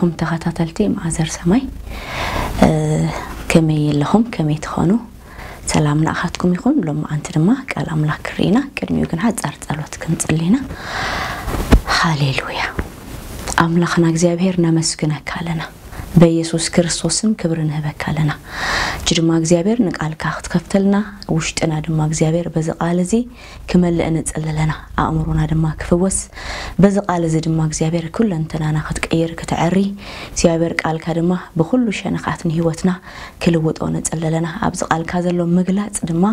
እም ተኸታተልቲ መኣዘር ሰማይ፣ እ፣ ከመይ ኣለኹም? ከመይ ትኾኑ? ሰላም ንኣኻትኩም ይኹን። ሎሚ ኣንቲ ድማ ቃል ኣምላኽ ክርኢና፣ ቅድሚኡ ግን ሓጻር ጸሎት ክንጽሊ ኢና። ሃሌሉያ። ኣምላኽና እግዚኣብሔር ነመስግነካ ኣለና። በኢየሱስ ክርስቶስ ስም ክብሪ ንህበካ ኣለና። እጂ ድማ እግዚኣብሔር ንቃልካ ክትከፍተልና፣ ውሽጥና ድማ እግዚኣብሔር በዚ ቃል እዚ ክመልእ ንጽሊ ኣለና። ኣእምሮና ድማ ክፍወስ፣ በዚ ቃል እዚ ድማ እግዚኣብሔር ኩለንተናና ክትቀይር ክትዐሪ፣ እግዚኣብሔር ቃልካ ድማ ብኩሉ ሸነኻት ንህይወትና ክልውጦ ንጽሊ ኣለና። ኣብዚ ቃልካ ዘሎ ምግላጽ ድማ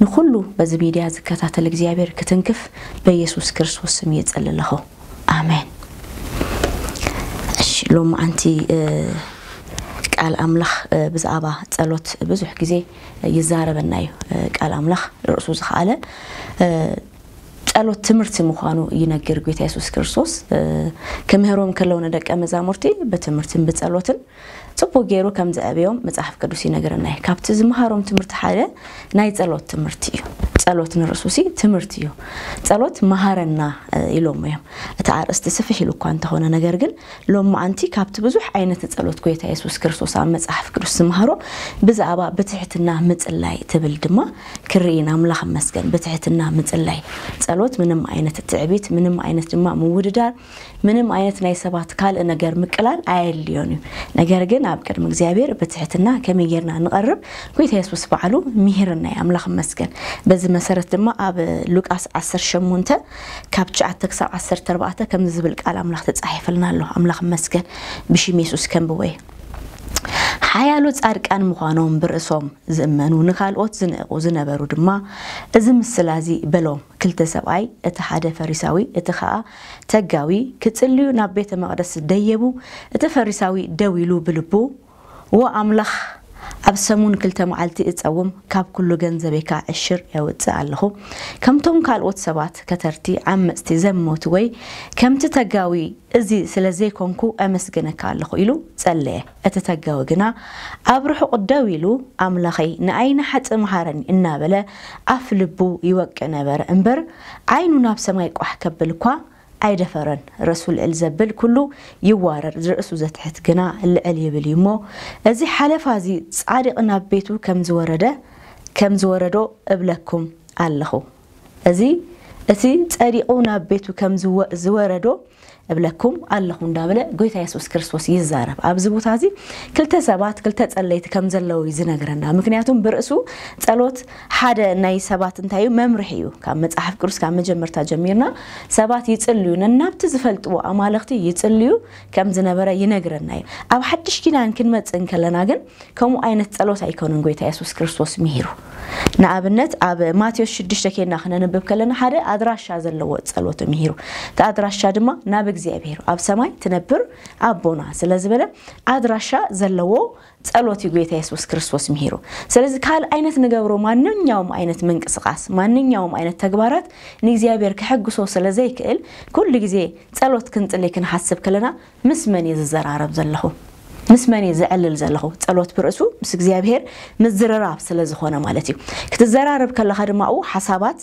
ንኩሉ በዚ ሚድያ ዝከታተል እግዚኣብሔር ክትንክፍ በኢየሱስ ክርስቶስ ስም ይጽሊ ኣለኹ። ኣሜን። እሺ፣ ሎሚ ኣንቲ፣ እ፣ ቃል ኣምላኽ፣ እ፣ ብዛዕባ ጸሎት ብዙሕ ግዜ ይዛረበና እዩ። እ፣ ቃል ኣምላኽ ርእሱ ዝኸኣለ፣ እ፣ ጸሎት ትምህርቲ ምዃኑ ይነግር ጎይታ የሱስ ክርስቶስ። እ፣ ክምህሮም ከለዉ ንደቀ መዛሙርቲ ብትምህርትን ብጸሎትን ጽቡቕ ገይሩ ከም ዘዕብዮም መጽሓፍ ቅዱስ ይነግረና እዩ። ካብቲ ዝመሃሮም ትምህርቲ ሓደ ናይ ጸሎት ትምህርቲ እዩ። ጸሎት ንርእሱ ሲ ትምህርቲ እዩ። ጸሎት መሃረና፣ እ፣ ኢሎሞ እዮም። እቲ ኣርእስቲ ስፍሕ ኢሉ እኳ እንተኾነ፣ ነገር ግን ሎሚ ኣንቲ ካብቲ ብዙሕ ዓይነት ጸሎት ጎይታ የሱስ ክርስቶስ ኣብ መጽሓፍ ቅዱስ ዝመሃሮ ብዛዕባ ብትሕትና ምጽላይ ትብል ድማ ክርኢ ኢና። ኣምላኽ ይመስገን። ብትሕትና ምጽላይ። ጸሎት ምንም ዓይነት ትዕቢት፣ ምንም ዓይነት ድማ ምውድዳር፣ ምንም ዓይነት ናይ ሰባት ካልእ ነገር ምቅላል ኣየድልዮን እዩ። ነገር ግን ኣብ ቅድሚ እግዚኣብሔር ብትሕትና ከመይ ጌርና ንቐርብ፣ ጎይታ የሱስ ባዕሉ ምሂርና እዩ። ኣምላኽ ይመስገን። በዚ መሰረት ድማ ኣብ ሉቃስ ዓሰርተ ሸሞንተ ካብ ትሽዓተ ክሳብ ዓሰርተ ኣርባዕተ ከምዚ ዝብል ቃል ኣምላኽ ተጻሒፈልና ኣሎ። ኣምላኽ ይመስገን። ብሽም የሱስ ከንብቦ እየ። ሓያሎ ጻድቃን ምዃኖም ብርእሶም ዝእመኑ፣ ንኻልኦት ዝንዕቑ ዝነበሩ ድማ፣ እዚ ምስላ እዚ በሎም። ክልተ ሰብኣይ፣ እቲ ሓደ ፈሪሳዊ፣ እቲ ኸኣ ተጋዊ፣ ክጽልዩ ናብ ቤተ መቕደስ ደየቡ። እቲ ፈሪሳዊ ደው ኢሉ ብልቡ፣ "ዎ ኣምላኽ፣ ኣብ ሰሙን ክልተ መዓልቲ እጸውም፣ ካብ ኩሉ ገንዘበይ ከኣ ዕሽር የውጽእ ኣለኹ። ከምቶም ካልኦት ሰባት ከተርቲ፣ ዓመጽቲ፣ ዘመቱ ወይ ከምቲ ተጋዊ እዚ ስለ ዘይኮንኩ ኣመስግነካ ኣለኹ" ኢሉ ጸለየ። እቲ ተጋዊ ግና ኣብ ርሑቕ ደው ኢሉ፣ "ኣምላኸይ፣ ንኣይ ንሓጥእ መሃረኒ" እናበለ ኣፍ ልቡ ይወቅዕ ነበረ እምበር፣ ዓይኑ ናብ ሰማይ ቋሕ ከብል እኳ ኣይደፈረን። ርእሱ ልዕል ዘብል ኩሉ ይዋረድ፣ ርእሱ ዘትሕት ግና ልዕል ይብል እዩ እሞ፣ እዚ ሓለፋ እዚ ጻድቕ ናብ ቤቱ ከም ዝወረደ፣ ከም ዝወረዶ እብለኩም ኣለኹ። እዚ፣ እቲ ጸዲቑ ናብ ቤቱ ከም ዝወ-፣ ዝወረዶ እብለኩም ኣለኹ እንዳበለ ጎይታ የሱስ ክርስቶስ ይዛረብ። ኣብዚ ቦታ እዚ ክልተ ሰባት፣ ክልተ ጸለይቲ ከም ዘለዉ እዩ ዝነግረና። ምክንያቱም ብርእሱ ጸሎት ሓደ ናይ ሰባት እንታይ እዩ? መምርሒ እዩ። ካብ መጽሓፍ ቅዱስ ካብ መጀመርታ ጀሚርና ሰባት ይጽልዩ፣ ነናብቲ ዝፈልጥዎ ኣማልኽቲ ይጽልዩ ከም ዝነበረ ይነግረና እዩ። ኣብ ሓድሽ ኪዳን ክንመጽእ እንከለና ግን ከምኡ ዓይነት ጸሎት ኣይኮነን ጎይታ የሱስ ክርስቶስ ምሂሩ። ንኣብነት ኣብ ማቴዎስ ሽዱሽተ ኬድና ክነንብብ ከለና ሓደ ኣድራሻ ዘለዎ ጸሎት ምሂሩ። እቲ ኣድራሻ ድማ ናብ እግዚኣብሔር ኣብ ሰማይ ትነብር ኣቦና ስለ ዝበለ ኣድራሻ ዘለዎ ጸሎት እዩ ጎይታ የሱስ ክርስቶስ ምሂሩ። ስለዚ ካልእ ዓይነት ንገብሮ ማንኛውም ዓይነት ምንቅስቃስ፣ ማንኛውም ዓይነት ተግባራት ንእግዚኣብሔር ከሐጉሶ ስለ ዘይክእል፣ ኩሉ ግዜ ጸሎት ክንጽሊ ክንሓስብ ከለና ምስ መን እየ ዝዘራረብ ዘለኹ? ምስ መን እየ ዘዕልል ዘለኹ? ጸሎት ብርእሱ ምስ እግዚኣብሔር ምዝርራብ ስለ ዝኾነ ማለት እዩ። ክትዘራረብ ከለኻ ድማ ኣብኡ ሓሳባት፣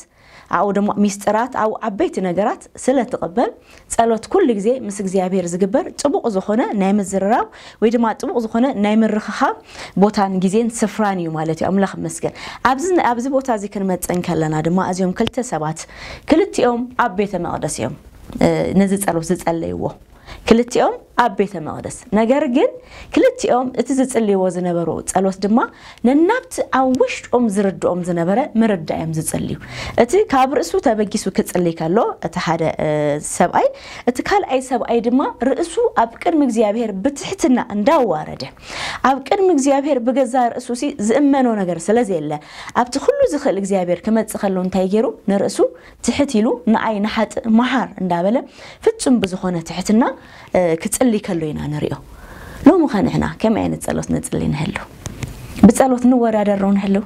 ኣብኡ ድማ ሚስጥራት፣ ኣብኡ ዓበይቲ ነገራት ስለ ትቕበል፣ ጸሎት ኩሉ ግዜ ምስ እግዚኣብሔር ዝግበር ጥቡቕ ዝኾነ ናይ ምዝርራብ ወይ ድማ ጥቡቕ ዝኾነ ናይ ምርኽኻብ ቦታን ግዜን ስፍራን እዩ ማለት እዩ። ኣምላኽ ይመስገን። ኣብዚ፣ ኣብዚ ቦታ እዚ ክንመጽእ እንከለና ድማ እዚኦም ክልተ ሰባት ክልቲኦም ኣብ ቤተ መቕደስ እዮም፣ እ፣ ነዚ ጸሎት ዝጸለይዎ። ክልቲኦም ኣብ ቤተ መቕደስ። ነገር ግን ክልቲኦም እቲ ዝጽልይዎ ዝነበሩ ጸሎት ድማ ነናብቲ ኣብ ውሽጦም ዝርድኦም ዝነበረ ምርዳእ እዮም ዝጽልዩ። እቲ ካብ ርእሱ ተበጊሱ ክጽልይ ከሎ፣ እቲ ሓደ፣ እ፣ ሰብኣይ፣ እቲ ካልኣይ ሰብኣይ ድማ ርእሱ ኣብ ቅድሚ እግዚኣብሔር ብትሕትና እንዳዋረደ፣ ኣብ ቅድሚ እግዚኣብሔር ብገዛ ርእሱ ሲ ዝእመኖ ነገር ስለ ዘየለ፣ ኣብቲ ኩሉ ዝኽእል እግዚኣብሔር ክመጽእ ከሎ እንታይ ገይሩ? ንርእሱ ትሕት ኢሉ ንኣይ ንሓጥእ መሓር እንዳበለ ፍጹም ብዝኾነ ትሕትና፣ እ፣ ክጽሊ ከሎ ኢና ንሪኦ። ሎሚ ኸ ንሕና ከመይ ዓይነት ጸሎት ንጽሊ ንህሉ? ብጸሎት ንወዳደር ዶ ንህሉ?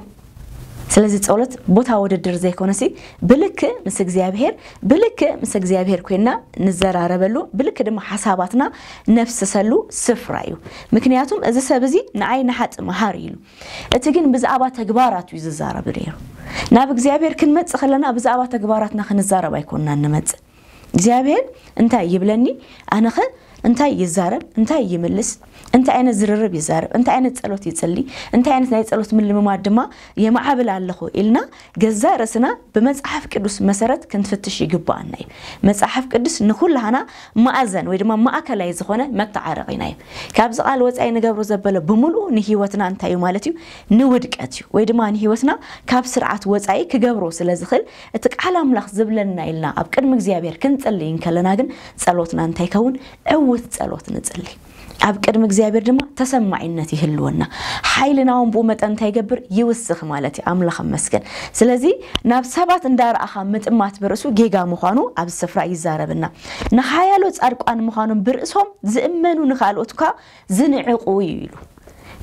ስለዚ ጸሎት ቦታ ውድድር ዘይኮነሲ ብልክእ ምስ እግዚኣብሔር፣ ብልክእ ምስ እግዚኣብሔር ኮይንና ንዘራረበሉ፣ ብልክእ ድማ ሓሳባትና ነፍስሰሉ ስፍራ እዩ። ምክንያቱም እዚ ሰብ እዚ ንኣይ ንሓጥእ መሓር ኢሉ። እቲ ግን ብዛዕባ ተግባራቱ እዩ ዝዛረብ ነይሩ። ናብ እግዚኣብሔር ክንመጽእ ከለና ብዛዕባ ተግባራትና ክንዛረብ ኣይኮንና ንመጽእ። እግዚኣብሔር እንታይ ይብለኒ? ኣነኸ እንታይ ይዛረብ? እንታይ ይምልስ? እንታይ ዓይነት ዝርርብ ይዛረብ? እንታይ ዓይነት ጸሎት ይጽሊ? እንታይ ዓይነት ናይ ጸሎት ምልምማድ ድማ የማዕብል ኣለኹ ኢልና ገዛ ርእስና ብመጽሓፍ ቅዱስ መሰረት ክንፍትሽ ይግባኣና እዩ። መጽሓፍ ቅዱስ ንኩላህና ማእዘን ወይ ድማ ማእከላይ ዝኾነ መተዓረቒና እዩ። ካብዚ ቃል ወጻኢ ንገብሮ ዘበለ ብምልኡ ንህይወትና እንታይ እዩ ማለት እዩ? ንውድቀት እዩ። ወይ ድማ ንህይወትና ካብ ስርዓት ወጻኢ ክገብሮ ስለ ዝኽእል እቲ ቃል ኣምላኽ ዝብለና ኢልና ኣብ ቅድሚ እግዚኣብሔር ክንጽልይ እንከለና ግን ጸሎትና እንታይ ይከውን? ዕውት ጸሎት ንጽሊ። ኣብ ቅድሚ እግዚኣብሔር ድማ ተሰማዒነት ይህልወና። ሓይልና እውን ብኡ መጠን እንታይ ይገብር? ይውስኽ ማለት እዩ። ኣምላኽ መስገን። ስለዚ ናብ ሰባት እንዳረኣኻ ምጥማት ብርእሱ ጌጋ ምዃኑ ኣብ ስፍራ ይዛረብና። ንሓያሎ ጻድቋን ምዃኖም ብርእሶም ዝእመኑ ንኻልኦት እኳ ዝንዕቑ እዩ ኢሉ።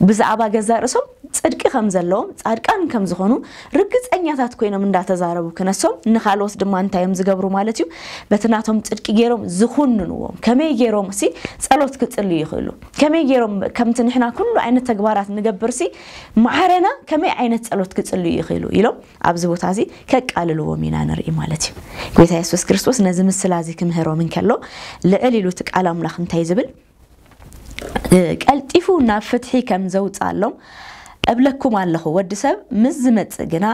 ብዛዕባ ገዛ ርእሶም ጽድቂ ከም ዘለዎም ጻድቃን ከም ዝኾኑ ርግጸኛታት ኮይኖም እንዳተዛረቡ ክነሶም ንኻልኦት ድማ እንታይ እዮም ዝገብሩ ማለት እዩ? በቲ ናቶም ጽድቂ ገይሮም ዝኹንንዎም። ከመይ ገይሮም ሲ ጸሎት ክጽልዩ ይኽእሉ? ከመይ ገይሮም ከምቲ ንሕና ኩሉ ዓይነት ተግባራት ንገብር ሲ ማዕረና ከመይ ዓይነት ጸሎት ክጽልዩ ይኽእሉ ኢሎም ኣብዚ ቦታ እዚ ከቃልልዎም ኢና ንርኢ ማለት እዩ። ጎይታ የሱስ ክርስቶስ ነዚ ምስላ እዚ ክምህሮም እንከሎ ልዕል ኢሉ እቲ ቃል ኣምላኽ እንታይ ዝብል ቀልጢፉ ናብ ፍትሒ ከም ዘውፅኣሎም እብለኩም ኣለኹ። ወዲ ሰብ ምስ ዝመፅእ ግና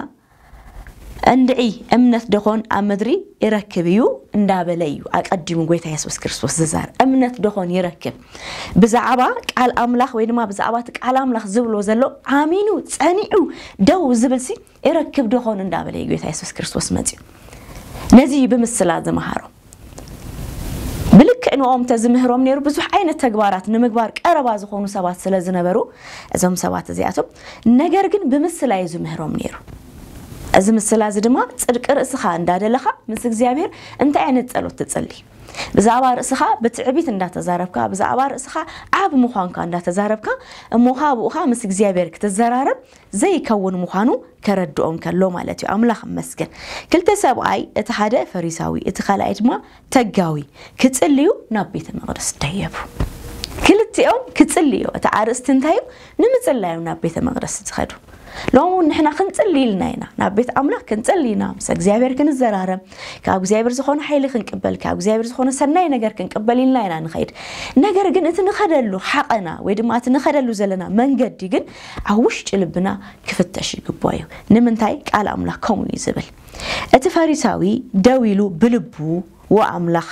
እንድዒ እምነት ደኾን ኣብ ምድሪ ይረክብ እዩ እንዳበለ እዩ ኣቀዲሙ ጎይታ የሱስ ክርስቶስ ዝዛር እምነት ደኾን ይረክብ። ብዛዕባ ቃል ኣምላኽ ወይ ድማ ብዛዕባ እቲ ቃል ኣምላኽ ዝብሎ ዘሎ ኣሚኑ ጸኒዑ ደው ዝብል ሲ ይረክብ ደኾን እንዳበለ እዩ ጎይታ የሱስ ክርስቶስ መፅዩ። ነዚ እዩ ብምስላ ዝመሃሮ። ብልክዕ ንኦም ተዝምህሮም ነይሩ ብዙሕ ዓይነት ተግባራት ንምግባር ቀረባ ዝኾኑ ሰባት ስለ ዝነበሩ እዞም ሰባት እዚኣቶም ነገር ግን ብምስላ እዩ ዝምህሮም ነይሩ። እዚ ምስላ እዚ ድማ ጽድቂ ርእስኻ እንዳደለኻ ምስ እግዚኣብሔር እንታይ ዓይነት ጸሎት ትጽሊ? ብዛዕባ ርእስኻ ብትዕቢት እንዳተዛረብካ ብዛዕባ ርእስኻ ዓብ ምዃንካ እንዳተዛረብካ እሞ ብኡኻ ምስ እግዚኣብሔር ክትዘራረብ ዘይከውን ምዃኑ ከረድኦም ከሎ ማለት እዩ። ኣምላኽ መስገን። ክልተ ሰብኣይ እቲ ሓደ ፈሪሳዊ እቲ ካልኣይ ድማ ተጋዊ ክጽልዩ ናብ ቤተ መቕደስ ደየቡ። ክልቲኦም ክጽልዩ እቲ ኣርእስቲ እንታይ እዩ? ንምጽላዮም ናብ ቤተ መቕደስ ዝኸዱ። ሎሚ እውን ንሕና ክንጽሊ ኢልና ኢና ናብ ቤት ኣምላኽ ክንጽሊ ኢና ምስ እግዚኣብሔር ክንዘራረብ ካብ እግዚኣብሔር ዝኾነ ሓይሊ ክንቅበል ካብ እግዚኣብሔር ዝኾነ ሰናይ ነገር ክንቅበል ኢልና ኢና ንኸይድ። ነገር ግን እቲ ንኸደሉ ሓቐና ወይ ድማ እቲ ንኸደሉ ዘለና መንገዲ ግን ኣብ ውሽጢ ልብና ክፍተሽ ይግባኦ እዩ። ንምንታይ ቃል ኣምላኽ ከምኡ እዩ ዝብል። እቲ ፈሪሳዊ ደው ኢሉ ብልቡ ወኣምላኽ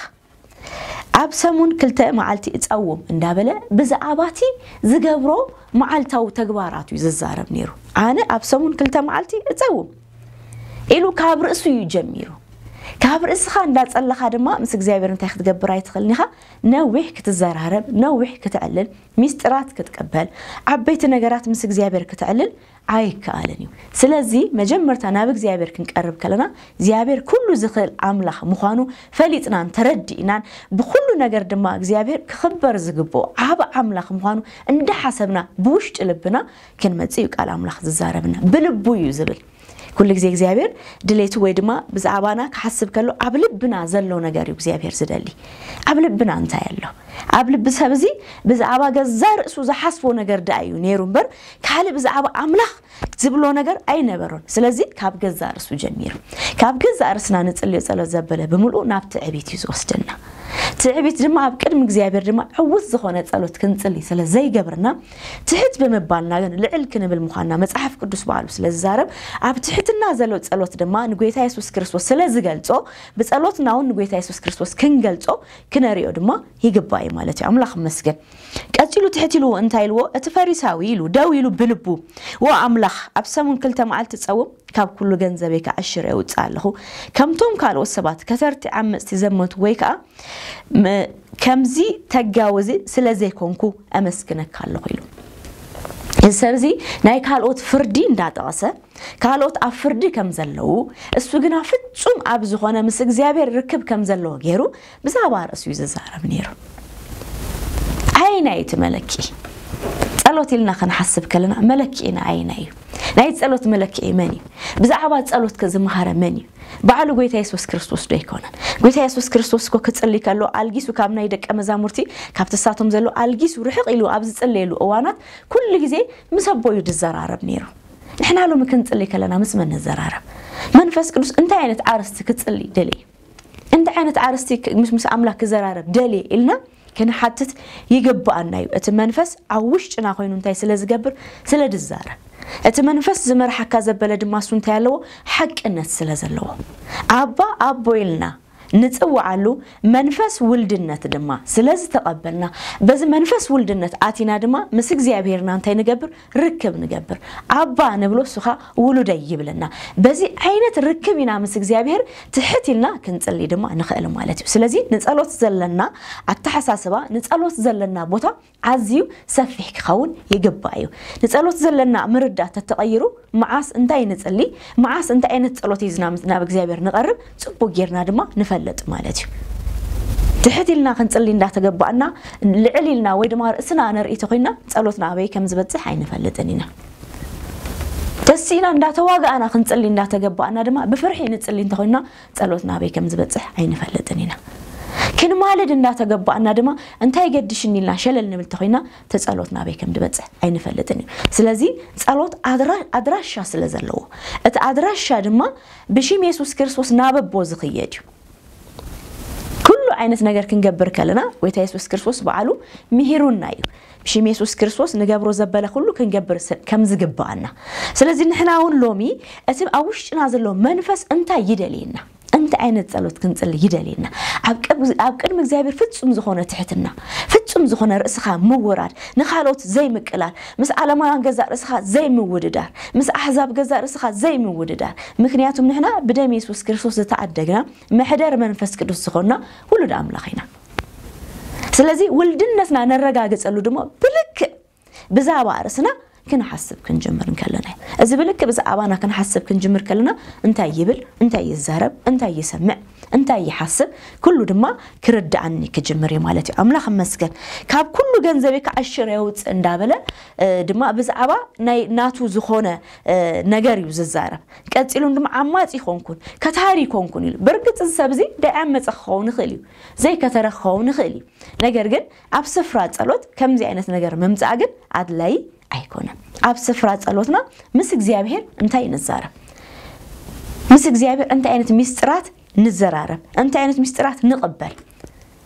ኣብ ሰሙን ክልተ መዓልቲ እጸውም እንዳበለ ብዛዕባ እቲ ዝገብሮ መዓልታዊ ተግባራቱ እዩ ዝዛረብ ነይሩ። ኣነ ኣብ ሰሙን ክልተ መዓልቲ እጸውም ኢሉ ካብ ርእሱ እዩ ጀሚሩ። ካብ ርእስኻ እንዳጸለኻ ድማ ምስ እግዚኣብሔር እንታይ ክትገብር ኣይትኽእልን ኢኻ። ነዊሕ ክትዘራረብ ነዊሕ ክትዕልል ሚስጥራት ክትቅበል ዓበይቲ ነገራት ምስ እግዚኣብሔር ክትዕልል ኣይከኣልን እዩ። ስለዚ መጀመርታ ናብ እግዚኣብሔር ክንቀርብ ከለና እግዚኣብሔር ኩሉ ዝኽእል ኣምላኽ ምዃኑ ፈሊጥናን ተረዲእናን ብኩሉ ነገር ድማ እግዚኣብሔር ክኽበር ዝግብኦ ዓብ ኣምላኽ ምዃኑ እንዳሓሰብና ብውሽጢ ልብና ክንመጽእ እዩ ቃል ኣምላኽ ዝዛረብና። ብልቡ እዩ ዝብል። ኩሉ ግዜ እግዚኣብሔር ድሌቱ ወይ ድማ ብዛዕባና ክሓስብ ከሎ ኣብ ልብና ዘሎ ነገር እዩ እግዚኣብሔር ዝደሊ። ኣብ ልብና እንታይ ኣሎ? ኣብ ልቢ ሰብ እዚ ብዛዕባ ገዛ ርእሱ ዝሓስቦ ነገር ደኣ እዩ ነይሩ እምበር ካልእ ብዛዕባ ኣምላኽ ዝብሎ ነገር ኣይነበሮን። ስለዚ ካብ ገዛ ርእሱ ጀሚሩ ካብ ገዛ ርእስና ንጽልዮ ጸሎት ዘበለ ብምልኡ ናብ ትዕቢት እዩ ዝወስደና። ትዕቢት ድማ ኣብ ቅድሚ እግዚኣብሔር ድማ ዕውት ዝኾነ ጸሎት ክንጽሊ ስለ ዘይገብርና ትሕት ብምባልና ግን ልዕል ክንብል ምዃንና መጽሓፍ ቅዱስ በዓሉ ስለ ዝዛረብ ኣብ ትሕትና ዘሎ ጸሎት ድማ ንጎይታ የሱስ ክርስቶስ ስለ ዝገልጾ ብጸሎትና እውን ንጎይታ የሱስ ክርስቶስ ክንገልጾ ክነሪኦ ድማ ይግባእ እዩ ማለት እዩ። ኣምላኽ መስገን። ቀጺሉ ትሕት ኢልዎ እንታይ ኢልዎ? እቲ ፈሪሳዊ ኢሉ ደው ኢሉ ብልቡ፣ "ዎ ኣምላኽ፣ ኣብ ሰሙን ክልተ መዓልቲ ጸውም፣ ካብ ኩሉ ገንዘበይ ከዓ ዕሽር የውጽእ ኣለኹ። ከምቶም ካልኦት ሰባት ከተርቲ ዓመጽቲ ዘመቱ ወይ ከዓ ም-፣ ከምዚ ተጋውዚ ስለ ዘይኮንኩ ኣመስግነካ ኣለኹ" ኢሉ። እዚ ሰብ እዚ ናይ ካልኦት ፍርዲ እንዳጠቐሰ ካልኦት ኣብ ፍርዲ ከም ዘለዉ እሱ ግና ፍጹም ኣብ ዝኾነ ምስ እግዚኣብሔር ርክብ ከም ዘለዎ ገይሩ ብዛዕባ ርእሱ እዩ ዝዛረብ ነይሩ። ኣየናይ እቲ መለክዒ? ጸሎት ኢልና ክንሓስብ ከለና መለክዒና ኣየናይ እዩ? ናይ ጸሎት መለክዒ መን እዩ? ብዛዕባ ጸሎት ከ ዝመሃረ መን እዩ? ባዕሉ ጎይታ የሱስ ክርስቶስ ዶ ኣይኮነን? ጎይታ የሱስ ክርስቶስ እኮ ክጽሊ ከሎ ኣልጊሱ ካብ ናይ ደቀ መዛሙርቲ ካብቲ ሳቶም ዘሎ ኣልጊሱ ርሕቕ ኢሉ ኣብ ዝጽለየሉ እዋናት ኩሉ ግዜ ምስ ኣቦ እዩ ዝዘራረብ ነይሩ። ንሕና ሎሚ ክንጽሊ ከለና ምስ መን ንዘራረብ? መንፈስ ቅዱስ እንታይ ዓይነት ኣርእስቲ ክጽሊ ደልዩ? እንታይ ዓይነት ኣርስቲ ምስ ምስ ኣምላኽ ክዘራረብ ደልየ ኢልና ክንሓትት ይግብኣና እዩ። እቲ መንፈስ ኣብ ውሽጥና ኮይኑ እንታይ ስለ ዝገብር? ስለ ዝዛረብ። እቲ መንፈስ ዝመርሓካ ዘበለ ድማ እሱ እንታይ ኣለዎ? ሓቅነት ስለ ዘለዎ። ኣባ ኣቦ ኢልና ንጽውዓሉ መንፈስ ውልድነት ድማ ስለ ዝተቐበልና፣ በዚ መንፈስ ውልድነት ኣቲና ድማ ምስ እግዚኣብሔርና እንታይ ንገብር? ርክብ ንገብር። ኣባ ንብሎ፣ እሱ ኸኣ ውሉደይ ይብለና። በዚ ዓይነት ርክብ ኢና ምስ እግዚኣብሔር ትሕት ኢልና ክንጽሊ ድማ ንኽእል ማለት እዩ። ስለዚ ንጸሎት ዘለና ኣተሓሳስባ፣ ንጸሎት ዘለና ቦታ ኣዝዩ ሰፊሕ ክኸውን ይግባእ እዩ። ንጸሎት ዘለና ምርዳት ተተቐይሩ፣ መዓስ እንታይ ንጽሊ፣ መዓስ እንታይ ዓይነት ጸሎት ሒዝና ምስ ናብ እግዚኣብሔር ንቐርብ ጽቡቅ ጌርና ድማ ንፈልጥ ማለት እዩ። ትሕት ኢልና ክንጽሊ እንዳተገባእና፣ ልዕል ኢልና ወይ ድማ ርእስና ነርኢ ተኾይና፣ ጸሎትና ኣበይ ከም ዝበጽሕ ኣይንፈልጥን ኢና። ተሲእና እንዳተዋጋእና ክንጽሊ እንዳተገባእና ድማ ብፍርሒ ንጽሊ እንተኾይና፣ ጸሎትና ኣበይ ከም ዝበጽሕ ኣይንፈልጥን ኢና። ክንማልድ እንዳተገባእና ድማ እንታይ ገድሽኒ ኢልና ሸለል ንብል ተኾይና፣ እቲ ጸሎትና ኣበይ ከም ዝበጽሕ ኣይንፈልጥን እዩ። ስለዚ ጸሎት ኣድራ-፣ ኣድራሻ ስለ ዘለዎ፣ እቲ ኣድራሻ ድማ ብሽም የሱስ ክርስቶስ ናብ ኣቦ ዝኽየድ እዩ። ኩሉ ዓይነት ነገር ክንገብር ከለና፣ ጎይታ የሱስ ክርስቶስ በዓሉ ምሂሩና እዩ። ብሽም የሱስ ክርስቶስ ንገብሮ ዘበለ ኩሉ ክንገብር ስ-፣ ከም ዝግብኣና። ስለዚ ንሕና እውን ሎሚ እቲ ኣብ ውሽጥና ዘሎ መንፈስ እንታይ ይደልየና? እንታይ ዓይነት ጸሎት ክንጽሊ ይደልየና? ኣብ ቅብ-፣ ኣብ ቅድሚ እግዚኣብሔር ፍጹም ዝኾነ ትሕትና፣ ፍጹም ዝኾነ ርእስኻ ምውራድ፣ ንኻልኦት ዘይምቅላል፣ ምስ ዓለማውያን ገዛእ ርእስኻ ዘይምውድዳር፣ ምስ ኣሕዛብ ገዛእ ርእስኻ ዘይምውድዳር። ምክንያቱም ንሕና ብደም የሱስ ክርስቶስ ዝተዓደግና፣ መሕደር መንፈስ ቅዱስ ዝኾንና ውሉድ ኣምላኽ ኢና። ስለዚ ውልድነትና ነረጋግጸሉ ድማ ብልክዕ ብዛዕባ ርእስና ክንሓስብ ክንጅምር እንከለና እዩ። እዚ ብልክዕ ብዛዕባና ክንሓስብ ክንጅምር ከለና እንታይ ይብል፣ እንታይ ይዛረብ፣ እንታይ ይሰምዕ፣ እንታይ ይሓስብ፣ ኩሉ ድማ ክርድኣኒ ክጅምር እዩ ማለት እዩ። ኣምላኽ ይመስገን። ካብ ኩሉ ገንዘበይ ክዓሽር የውፅእ እንዳበለ፣ እ፣ ድማ ብዛዕባ ናይ ናቱ ዝኾነ፣ እ፣ ነገር እዩ ዝዛረብ። ቀጺሉን ድማ ዓማጺ ይኾንኩን፣ ከታሪ ይኾንኩን ኢሉ። ብርግጽ እዚ ሰብ እዚ ደይ ዓመጸ ክኸውን ይኽእል እዩ፣ ዘይከተረ ክኸውን ይኽእል እዩ። ነገር ግን ኣብ ስፍራ ጸሎት ከምዚ ዓይነት ነገር ምምጻእ ግን ኣድላዪ ኣይኮነን። ኣብ ስፍራ ጸሎትና ምስ እግዚኣብሔር እንታይ ንዛረብ? ምስ እግዚኣብሔር እንታይ ዓይነት ሚስጥራት ንዘራረብ? እንታይ ዓይነት ሚስጥራት ንቕበል?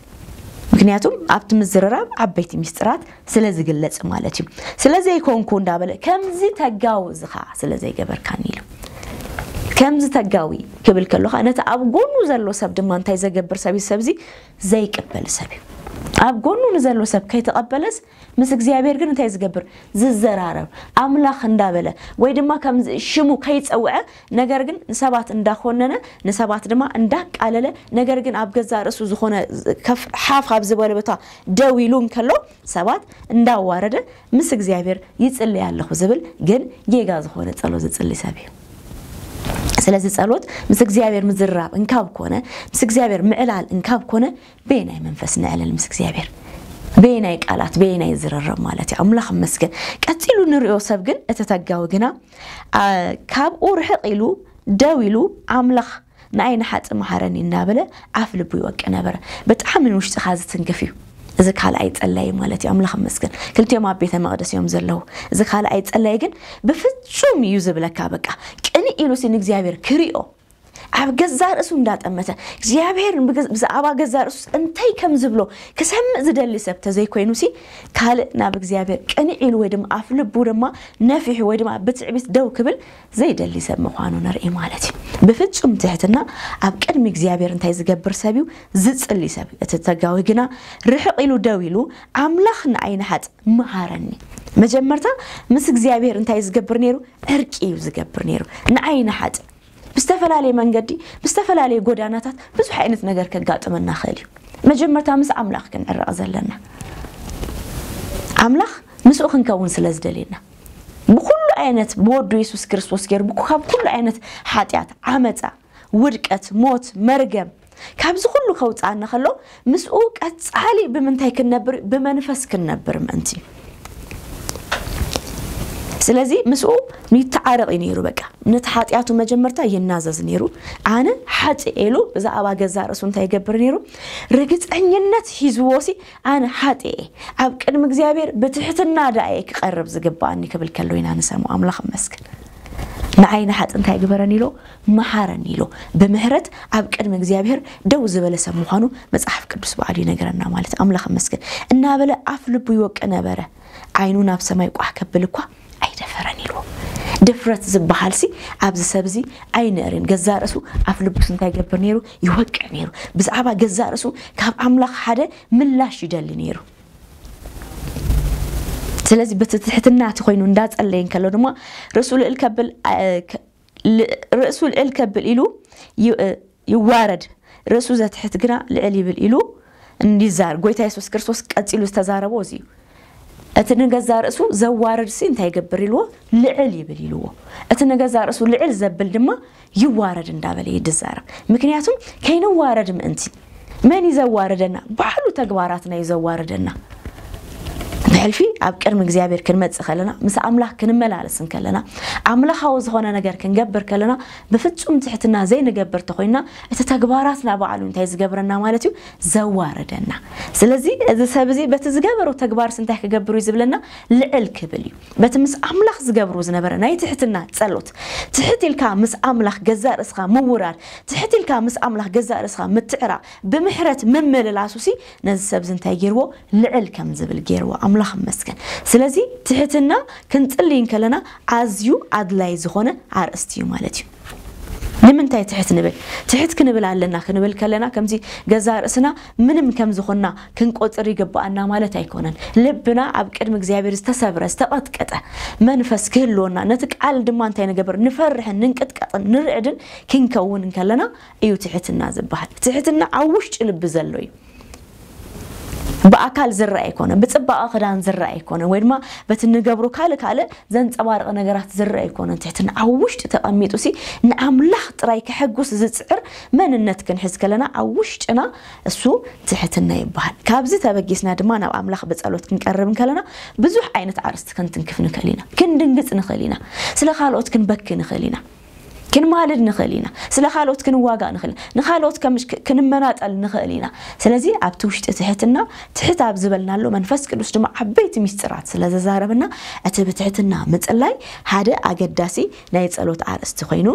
ምክንያቱም ኣብቲ ምዝርራብ ዓበይቲ ሚስጥራት ስለ ዝግለጽ ማለት እዩ። ስለ ዘይኮንኩ እንዳበለ ከምዚ ተጋውዝኻ ስለ ዘይገበርካኒ ኢሉ። ከምዚ ተጋዊ ክብል ከሎ ኸኣ ነቲ ኣብ ጎኑ ዘሎ ሰብ ድማ እንታይ ዘገብር ሰብ እዩ? ሰብዚ ዘይቅበል ሰብ እዩ። ኣብ ጎኑ ንዘሎ ሰብ ከይተቐበለስ ምስ እግዚኣብሔር ግን እንታይ ዝገብር? ዝዘራረብ፣ ኣምላኽ እንዳበለ ወይ ድማ ከም ሽሙ ከይጸውዐ፣ ነገር ግን ንሰባት እንዳኾነነ፣ ንሰባት ድማ እንዳቃለለ፣ ነገር ግን ኣብ ገዛእ ርእሱ ዝኾነ ከፍ-፣ ሓፍ ኣብ ዝበለ ቦታ ደው ኢሉ እንከሎ ሰባት እንዳዋረደ ምስ እግዚኣብሔር ይጽልይ ኣለኹ ዝብል ግን ጌጋ ዝኾነ ጸሎት ዝጽሊ ሰብ እዩ። ስለዚ ጸሎት ምስ እግዚኣብሔር ምዝራብ እንካብ ኮነ፣ ምስ እግዚኣብሔር ምዕላል እንካብ ኮነ፣ በየናይ መንፈስ ንዕልል ምስ እግዚኣብሔር? በየናይ ቃላት፣ በየናይ ዝርርብ ማለት እዩ? ኣምላኽ ይመስገን። ቀጺሉ ንሪኦ ሰብ ግን፣ እቲ ተጋዊ ግና፣ ኣ፣ ካብኡ ርሕቕ ኢሉ፣ ደው ኢሉ፣ ኣምላኽ ንኣይ ንሓጢእ መሓረኒ እናበለ ኣፍ ልቡ ይወቅዕ ነበረ። ብጣዕሚ ንውሽጥኻ ዝትንክፍ እዩ። እዚ ካልኣይ ጸላይ ማለት እዩ። ኣምላኽ ይመስገን። ክልቲኦም ኣብ ቤተ መቕደስ እዮም ዘለዉ። እዚ ካልኣይ ጸላይ ግን ብፍጹም እዩ ዝብለካ፣ በቃ ቅንእ ኢሉ ሲ ንእግዚኣብሔር ክሪኦ፣ ኣብ ገዛ ርእሱ እንዳጠመተ እግዚኣብሔር ብገ-፣ ብዛዕባ ገዛ ርእሱ እንታይ ከም ዝብሎ ክሰምዕ ዝደሊ ሰብ ተዘይኮይኑ ሲ፣ ካልእ ናብ እግዚኣብሔር ቅንዕ ኢሉ ወይ ድማ ኣፍ ልቡ ድማ ነፊሑ ወይ ድማ ብትዕቢት ደው ክብል ዘይደሊ ሰብ ምዃኑ ንርኢ ማለት እዩ። ብፍጹም ትሕትና ኣብ ቅድሚ እግዚኣብሔር እንታይ ዝገብር ሰብ እዩ? ዝጽሊ ሰብ እዩ። እቲ ተጋዊ ግና ርሕቕ ኢሉ ደው ኢሉ፣ ኣምላኽ ንኣይ ንሓጥ መሃረኒ። መጀመርታ ምስ እግዚኣብሔር እንታይ ዝገብር ነይሩ? ዕርቂ እዩ ዝገብር ነይሩ። ንኣይ ንሓጥ ብዝተፈላለየ መንገዲ፣ ብዝተፈላለየ ጎዳናታት ብዙሕ ዓይነት ነገር ከጋጥመና ይኽእል እዩ። መጀመርታ ምስ ኣምላኽ ክንዕረቕ ዘለና። ኣምላኽ ምስኡ ክንከውን ስለ ዝደልየና። ብኹሉ ዓይነት ብወዱ የሱስ ክርስቶስ ገይሩ፣ ብኩ-፣ ካብ ኩሉ ዓይነት ሓጢኣት፣ ዓመፃ፣ ውድቀት፣ ሞት፣ መርገም፣ ካብዚ ኩሉ ከውፅኣና ከሎ፣ ምስኡ ቀፃሊ ብምንታይ ክንነብር? ብመንፈስ ክንነብር ምእንቲ። ስለዚ ምስኡ ይተዓረቕ እዩ ነይሩ። በቃ ነቲ ሓጢኣቱ መጀመርታ ይናዘዝ ነይሩ። ኣነ ሓጥእ ኢሉ ብዛዕባ ገዛ ርእሱ እንታይ ይገብር ነይሩ? ርግፀኝነት ሒዝዎ ሲ፣ ኣነ ሓጥእ እየ፣ ኣብ ቅድሚ እግዚኣብሔር ብትሕትና ደኣ እየ ክቐርብ ዝግባኣኒ ክብል ከሎ ኢና ንሰምዖ። ኣምላኽ ይመስገን። ንዓይ ንሓጥ እንታይ ግበረኒ ኢሎ፣ መሓረኒ ኢሎ። ብምሕረት ኣብ ቅድሚ እግዚኣብሔር ደው ዝበለ ሰብ ምዃኑ መጽሓፍ ቅዱስ በዓሉ ይነግረና ማለት። ኣምላኽ ይመስገን። እናበለ ኣፍ ልቡ ይወቅዕ ነበረ። ዓይኑ ናብ ሰማይ ቋሕ ከብል እኳ ኣይደፈረን ኢልዎ። ድፍረት ዝበሃል ሲ ኣብዚ ሰብ እዚ ኣይነርን። ገዛ ርእሱ ኣፍ ልቡስ እንታይ ይገብር ነይሩ? ይወቅዕ ነይሩ። ብዛዕባ ገዛ ርእሱ ካብ ኣምላኽ ሓደ ምላሽ ይደሊ ነይሩ። ስለዚ በቲ ትሕትና እቲ ኮይኑ እንዳጸለየ እንከሎ ድማ ርእሱ ልዕል ከብል እ፣ ከ- ል- ርእሱ ልዕል ከብል ኢሉ ዩ- እ፣ ይዋረድ፣ ርእሱ ዘትሕት ግና ልዕል ይብል ኢሉ እንዲዛር ጎይታ የሱስ ክርስቶስ ቀጺሉ ዝተዛረቦ እዚ እዩ። እቲ ንገዛ ርእሱ ዘዋርድ ሲ እንታይ ይገብር ኢልዎ? ልዕል ይብል ኢልዎ። እቲ ንገዛ ርእሱ ልዕል ዘብል ድማ ይዋረድ እንዳበለ ይድዛረብ። ምክንያቱም ከይንዋረድ ምእንቲ። መን እዩ ዘዋርደና? ባዕሉ ተግባራትና እዩ ዘዋርደና። ብሕልፊ ኣብ ቅድሚ እግዚኣብሔር ክንመጽእ ከለና፣ ምስ ኣምላኽ ክንመላለስ እንከለና፣ ኣምላኻዊ ዝኾነ ነገር ክንገብር ከለና፣ ብፍጹም ትሕትና ዘይንገብር ተኾይና፣ እቲ ተግባራትና ባዕሉ እንታይ ዝገብረና ማለት እዩ? ዘዋርደና። ስለዚ እዚ ሰብ እዚ በቲ ዝገበሮ ተግባርስ እንታይ ክገብር እዩ ዝብለና? ልዕል ክብል እዩ። በቲ ምስ ኣምላኽ ዝገብሩ ዝነበረ ናይ ትሕትና ጸሎት፣ ትሕት ኢልካ ምስ ኣምላኽ ገዛእ ርእስኻ ምውራድ፣ ትሕት ኢልካ ምስ ኣምላኽ ገዛእ ርእስኻ ምትዕራቕ፣ ብምሕረት ምምልላሱ ሲ ነዚ ሰብ እዚ እንታይ ገይርዎ? ልዕል ከም ዝብል ገይርዎ። ኣምላኽ ይመስገን። ስለዚ ትሕትና ክንጽልይ እንከለና ኣዝዩ ኣድላይ ዝኾነ ኣርእስቲ እዩ ማለት እዩ። ንምንታይ ትሕት ንብል? ትሕት ክንብል ኣለና ክንብል ከለና ከምዚ ገዛ ርእስና ምንም ከም ዝኾንና ክንቆጽር ይግብኣና ማለት ኣይኮነን። ልብና ኣብ ቅድሚ እግዚኣብሔር ዝተሰብረ፣ ዝተቐጥቀጠ መንፈስ ክህልወና፣ ነቲ ቃል ድማ እንታይ ንገብር? ንፈርሕን ንንቅጥቀጥን ንርዕድን ክንከውን እንከለና እዩ ትሕትና ዝበሃል። ትሕትና ኣብ ውሽጢ ልቢ ዘሎ እዩ። ብኣካል ዝረኣ ኣይኮነን፣ ብጽባቐ ክዳን ዝረኣ ኣይኮነን፣ ወይ ድማ በቲ ንገብሮ ካልእ ካልእ ዘንጸባርቕ ነገራት ዝረኣ ኣይኮነን። ትሕትና ኣብ ውሽጢ ተቐሚጡ ሲ ንኣምላኽ ጥራይ ከሐጉስ ዝጽዕር መንነት ክንሕዝ ከለና ኣብ ውሽጥና እሱ ትሕትና ይበሃል። ካብዚ ተበጊስና ድማ ናብ ኣምላኽ ብጸሎት ክንቀርብ እንከለና ብዙሕ ዓይነት ኣርእስቲ ክንትንክፍ ንኽእል ኢና። ክንድንግጽ ንኽእል ኢና። ስለ ካልኦት ክንበኪ ንኽእል ኢና። ክንማልድ ንኽእል ኢና። ስለ ካልኦት ክንዋጋእ ንኽእል ኢና። ንኻልኦት ከም ክ- ክንመናጠል ንኽእል ኢና። ስለዚ ኣብቲ ውሽጢ ትሕትና፣ ትሕት ኣብ ዝበልናሉ መንፈስ ቅዱስ ድማ ዓበይቲ ሚስጥራት ስለ ዘዛረበና፣ እቲ ብትሕትና ምጽላይ ሓደ ኣገዳሲ ናይ ጸሎት ኣርእስቲ ኮይኑ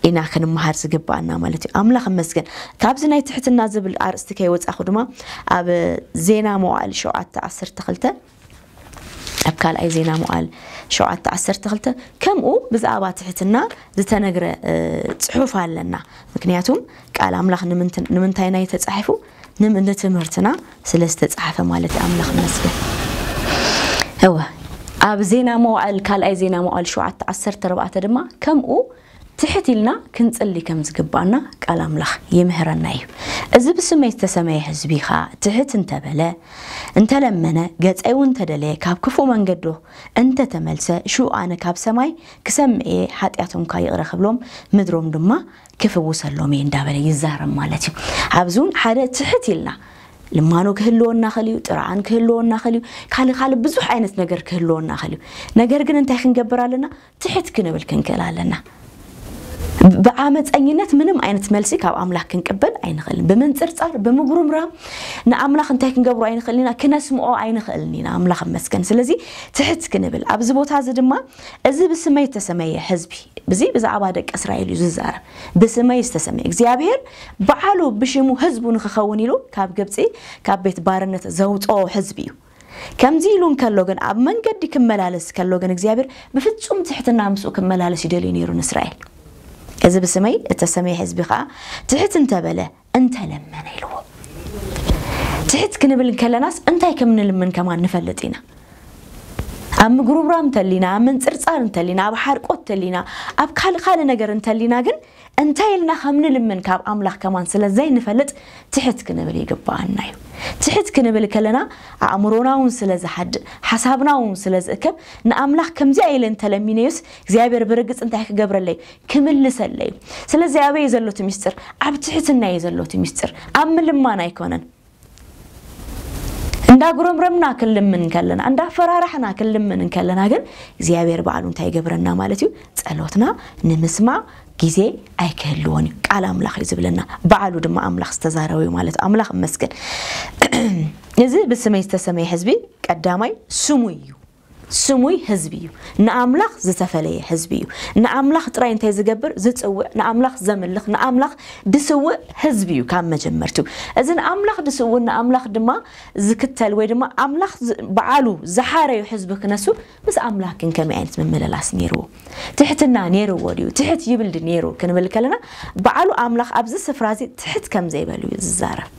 ኢና ክንመሃር ዝግባኣና ማለት እዩ። ኣምላኽ ይመስገን። ካብዚ ናይ ትሕትና ዝብል ኣርእስቲ ከይወጻኹ ድማ ኣብ ዜና መዋዕል ሸውዓተ ዓሰርተ ክልተ ኣብ ካልኣይ ዜና መዋዕል ሸውዓተ ዓሰርተ ክልተ ከምኡ ብዛዕባ ትሕትና ዝተነግረ እ፣ ጽሑፍ ኣለና። ምክንያቱም ቃል ኣምላኽ ንምንት- ንምንታይ ናይ ተጻሒፉ? ንም- ንትምህርትና ስለ ዝተጻሕፈ ማለት እዩ። ኣምላኽ ይመስገን። እወ ኣብ ዜና መዋዕል ካልኣይ ዜና መዋዕል ሸውዓተ ዓሰርተ ኣርባዕተ ድማ ከምኡ ትሕት ኢልና ክንጽሊ ከም ዝግባኣና ቃል ኣምላኽ ይምህረና እዩ። እዚ ብስመይ ዝተሰመየ ህዝቢ ኸኣ ትሕት እንተበለ፣ እንተለመነ፣ ገጸይ እውን እንተደለየ፣ ካብ ክፉእ መንገዱ እንተተመልሰ፣ ሽኡ ኣነ ካብ ሰማይ ክሰምዕ እየ፣ ሓጢኣቶም ከኣ ይቕረ ክብሎም፣ ምድሮም ድማ ክፍውሰሎም እየ እንዳበለ ይዛረብ ማለት እዩ። ኣብዚ እውን ሓደ ትሕት ኢልና ልማኖ ክህልወና ኸል እዩ፣ ጥርዓን ክህልወና ኸል እዩ፣ ካልእ ካልእ ብዙሕ ዓይነት ነገር ክህልወና ኸል እዩ። ነገር ግን እንታይ ክንገብር ኣለና? ትሕት ክንብል ክንክእል ኣለና። ብዓመፀኝነት ምንም ዓይነት መልሲ ካብ ኣምላኽ ክንቅበል ኣይንኽእልን። ብምንፅርፃር፣ ብምጉርምራም ንኣምላኽ እንታይ ክንገብሮ ኣይንኽእልን ኢና? ክነስምዖ ኣይንኽእልን ኢና። ኣምላኽ ይመስገን። ስለዚ ትሕት ክንብል ኣብዚ ቦታ እዚ ድማ እዚ ብስመይ ዝተሰመየ ህዝቢ፣ እዚ ብዛዕባ ደቂ እስራኤል እዩ ዝዛረብ። ብስመይ ዝተሰመየ እግዚኣብሔር ባዕሉ ብሽሙ ህዝቡ ንክኸውን ኢሉ ካብ ግብፂ ካብ ቤት ባርነት ዘውፅኦ ህዝቢ እዩ። ከምዚ ኢሉ እንከሎ ግን ኣብ መንገዲ ክመላለስ ከሎ ግን እግዚኣብሔር ብፍጹም ትሕትና ምስኡ ክመላለስ ይደልዩ ነይሩ ንእስራኤል። እዚ ብስመይ እተሰመየ ህዝቢ ኸዓ ትሕት እንተበለ እንተለመነ ኢልዎ። ትሕት ክንብል እንከለናስ እንታይ ከም ንልምን ከማን ንፈልጥ ኢና። ኣብ ምጉርምራም እንተሊና፣ ኣብ ምንጽርጻር እንተሊና፣ ኣብ ሓርቆት እንተሊና፣ ኣብ ካልእ ካልእ ነገር እንተሊና ግን እንታይ ኢልና ከም ንልምን ካብ ኣምላኽ ከማን ስለ ዘይንፈልጥ ትሕት ክንብል ይግብኣና እዩ። ትሕት ክንብል ከለና ኣእምሮና እውን ስለ ዝሓድእ፣ ሓሳብና እውን ስለ ዝእከብ ንኣምላኽ ከምዚኣ ኢለ እንተለሚነዮስ እግዚኣብሔር ብርግጽ እንታይ ክገብረለይ? ክምልሰለይ እዩ። ስለዚ ኣበይ ዘሎ እቲ ምስጢር? ኣብ ትሕትና እዩ ዘሎ እቲ ምስጢር፣ ኣብ ምልማን ኣይኮነን። እንዳጉረምረምና ክንልምን ከለና፣ እንዳፈራራሕና ክንልምን ከለና ግን እግዚኣብሔር ባዕሉ እንታይ ይገብረና ማለት እዩ? ጸሎትና ንምስማዕ ግዜ ኣይክህልዎን እዩ። ቃል ኣምላኽ እዩ ዝብለና። ባዕሉ ድማ ኣምላኽ ዝተዛረበ እዩ ማለት እዩ። ኣምላኽ ይመስገን። እዚ ብስመይ ዝተሰመየ ህዝቢ ቀዳማይ ስሙ እዩ። ስሙይ ህዝቢ እዩ። ንኣምላኽ ዝተፈለየ ህዝቢ እዩ። ንኣምላኽ ጥራይ እንታይ ዝገብር? ዝጽውዕ፣ ንኣምላኽ ዘምልኽ፣ ንኣምላኽ ድስውእ ህዝቢ እዩ ካብ መጀመርቱ። እዚ ንኣምላኽ ድስውእ፣ ንኣምላኽ ድማ ዝክተል ወይ ድማ ኣምላኽ ዝ- በዓሉ ዝሓረዩ ህዝቢ ክነሱ ምስ ኣምላኽ ግን ከመይ ዓይነት ምምልላስ ነይርዎ? ትሕትና ነይርዎ ድዩ? ትሕት ይብል ድ ነይሩ ክንብል ከለና በዓሉ ኣምላኽ ኣብዚ ስፍራ እዚ ትሕት ከም ዘይበሉ እዩ ዝዛረብ።